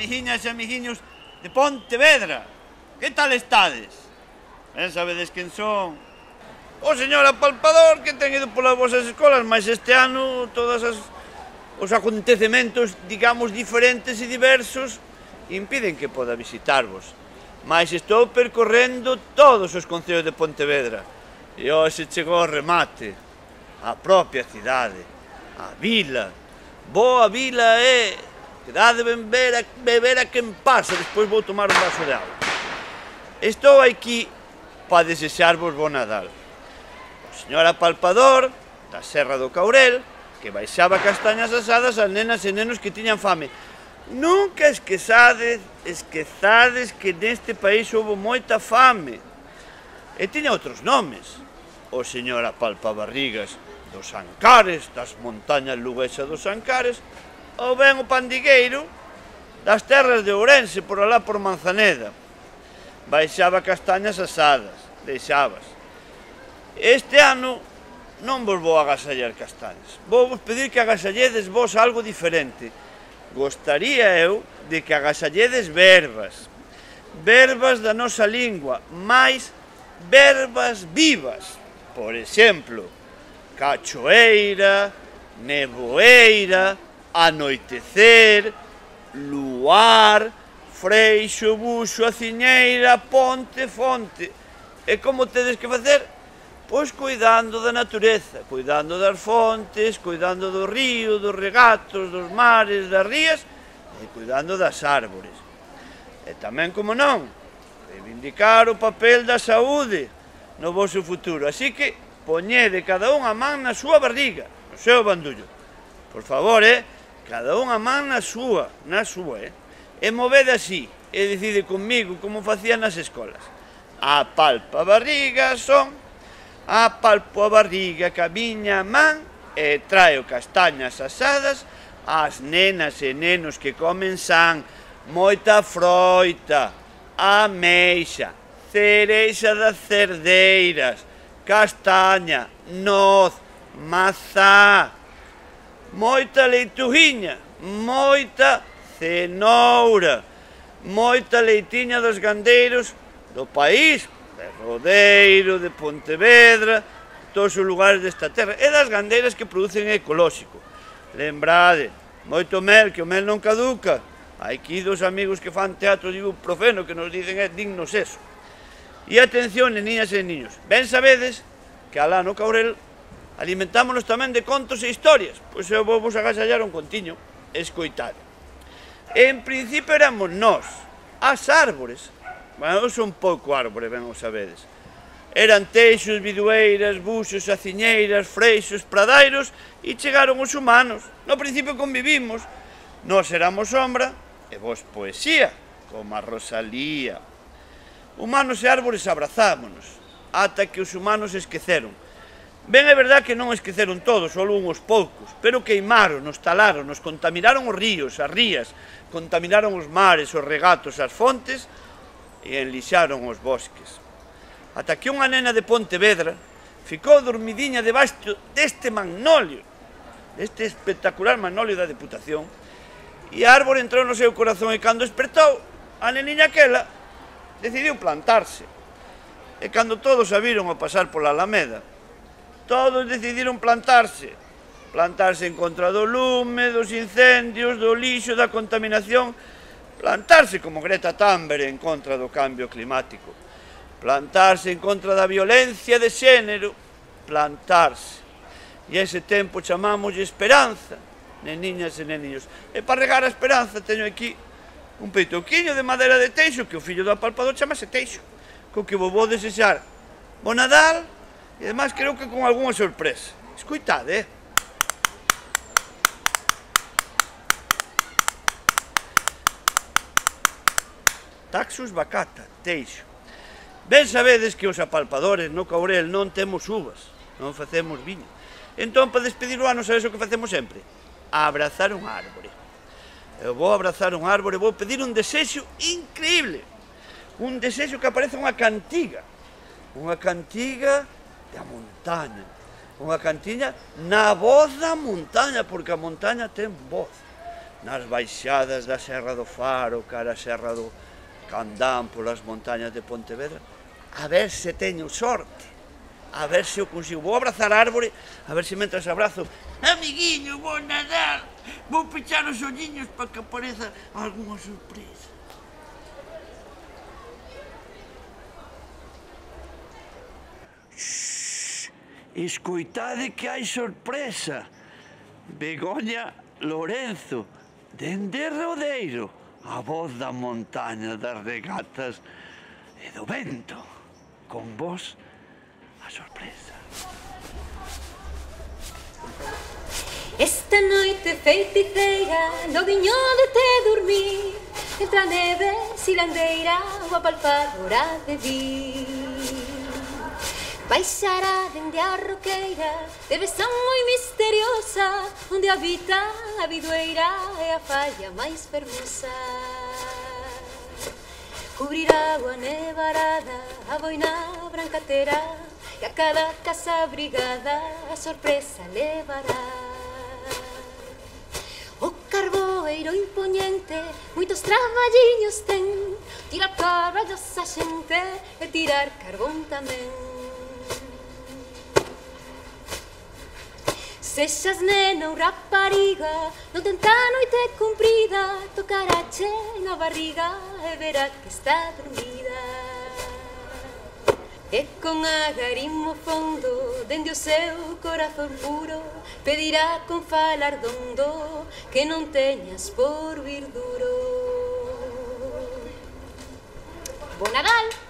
amiguiñas e amiguiños de Pontevedra. Que tal estades? Ben sabedes quen son? O señor apalpador que ten ido polas vosas escolas, mas este ano todos os acontecementos, digamos, diferentes e diversos impiden que poda visitarvos. Mas estou percorrendo todos os concellos de Pontevedra e hoxe chegou o remate, a propia cidade, a vila. Boa vila é, que dá de beber a quen pasa, despois vou tomar un vaso de auga. Estou aquí para desexarvos bo Nadal. O señor apalpador da Serra do Caurel, que baixaba castañas asadas ás nenas e nenos que tiñan fame. Nunca esquezades que neste país houve moita fame. E tiña outros nomes. O señor apalpabarrigas dos Ancares, das montañas luguesas dos Ancares, ou ben o pandigueiro das terras de Ourense, por alá por Manzaneda. Baixaba castañas asadas, deixabas. Este ano non vos vou agasallar castañas. Vou vos pedir que agasalledes vos algo diferente. Gostaría eu de que agasalledes verbas. Verbas da nosa lingua, máis verbas vivas. Por exemplo, cachoeira, neboeira, anoitecer, luar, freixo, buxo, aciñeira, ponte, fonte. E como tedes que facer? Pois cuidando da natureza, cuidando das fontes, cuidando do río, dos regatos, dos mares, das rías e cuidando das árbores. E tamén, como non, reivindicar o papel da saúde no vosso futuro. Así que poñede cada un a man na súa barriga, no seu bandullo. Por favor, cada un a man na súa, e movede así, e decide comigo como facían nas escolas. Apalpa a barriga, son, apalpo a barriga ca miña man e traio castañas asadas ás nenas e nenos que comen san, moita froita, ameixa, cereixa das cerdeiras, castaña, noz, mazá, moita leitujiña, moita cenoura, moita leitiña dos gandeiros do país, de Rodeiro, de Pontevedra, todos os lugares desta terra, e das gandeiras que producen ecolóxico. Lembrade, moito mel, que o mel non caduca. Hai aquí dos amigos que fan teatro de ibuprofeno que nos dicen dignos eso. E atención, niñas e niños, ben sabedes que alá no Caurel alimentámonos tamén de contos e historias. Pois eu vou vos agasallar un contiño, escoitade. En principio éramos nós, as árbores. Bueno, eu son pouco árbore, ben o sabedes. Eran teixos, bidueiras, buxos, aciñeiras, freixos, pradairos e chegaron os humanos. No principio convivimos, nós éramos sombra e vos poesía, como a Rosalía. Humanos e árbores abrazámonos, ata que os humanos esqueceron. Ben é verdad que non esqueceron todos, só uns poucos, pero queimaron, nos talaron, nos contaminaron os ríos, as rías, contaminaron os mares, os regatos, as fontes e enlixaron os bosques. Ata que unha nena de Pontevedra ficou dormidiña debaixo deste magnolio, deste espectacular magnolio da Deputación, e a árbore entrou no seu corazón e cando despertou, a neniña aquela decidiu plantarse. E cando todos a viron a pasar pola Alameda, todos decidiron plantarse en contra do lume, dos incendios, do lixo, da contaminación, plantarse como Greta Thunberg en contra do cambio climático, plantarse en contra da violencia de xénero, plantarse. E a ese tempo chamámoslle esperanza, neniñas e neniños. E para regar a esperanza teño aquí un peitoquiño de madeira de teixo, que o fillo do apalpador chamase Teixo, co que vos vou desexar bo Nadal, e ademais creo que con algunha sorpresa. Escoitade, Taxus bacata, Teixo. Ben sabedes que os apalpadores no Caurel non temos uvas, non facemos viño. Entón, para despedir o ano, sabes o que facemos sempre? Abrazar un árbore. Eu vou abrazar un árbore, vou pedir un desexo increíble. Un desexo que aparece unha cantiga da montaña, unha cantiña na voz da montaña, porque a montaña ten voz. nas baixadas da Serra do Faro, cara a Serra do Candán, polas montañas de Pontevedra, a ver se teño sorte, a ver se o consigo. Vou abrazar a árbore, a ver se mentras abrazo, amiguiño, vou nadar, vou pechar os olliños para que apareza algunha sorpresa. Escoitade que hai sorpresa. Begoña Lorenzo, dende Rodeiro, a voz da montaña, das regatas e do vento. Con vos, a sorpresa. Esta noite feiticeira, no guiño de te dormir, entre a neve silandeira, o apalpadora de vir. Baixará dende a roqueira, de besán moi misteriosa, onde habita a bidueira e a falla máis fermosa. Cubrirá a nevarada, a boina branca terá, e a cada casa abrigada a sorpresa levará. O carboeiro impoñente moitos traballiños ten, tirar carballos a xente e tirar carbón tamén. Sexas nena ou rapariga, non tenta a noite cumprida, tocarache na barriga e verá que está dormida. E con agarimo fondo, dende o seu corazón puro, pedirá con falar dondo que non teñas por vir duro. Bo Nadal!